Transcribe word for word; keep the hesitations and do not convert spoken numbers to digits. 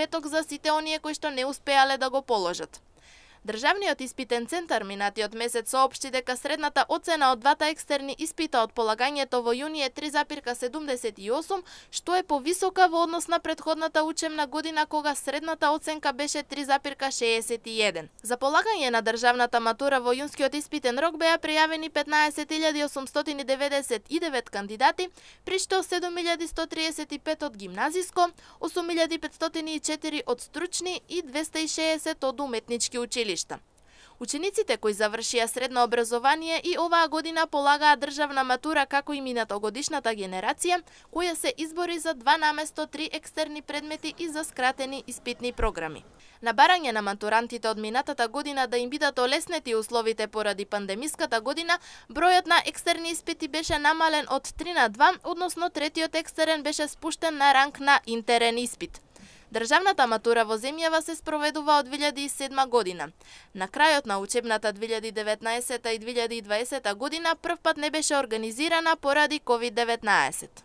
петок за сите оние кои што не успеале да го положат. Државниот испитен центар минатиот месец соопшти дека средната оцена од двата екстерни испита од полагањето во јуни е три зарез седумдесет и осум, што е повисока во однос на претходната учебна година кога средната оценка беше три зарез шеесет и еден. За полагање на државната матура во јунскиот испитен рок беа пријавени петнаесет илјади осумстотини деведесет и девет кандидати, при што седум илјади сто триесет и пет од гимназиско, осум илјади петстотини и четири од стручни и двеста и шеесет од уметнички училишта. Учениците кои завршија средно образование и оваа година полагаа државна матура како и минатогодишната генерација, која се избори за два наместо три екстерни предмети и за скратени испитни програми. На барање на матурантите од минатата година да им бидат олеснети условите поради пандемиската година, бројот на екстерни испити беше намален од три на два, односно третиот екстерен беше спуштен на ранг на интерен испит. Државната матура во земјава се спроведува од две илјади и седма година. На крајот на учебната две илјади и деветнаесета и две илјади и дваесета година првпат не беше организирана поради ковид деветнаесет.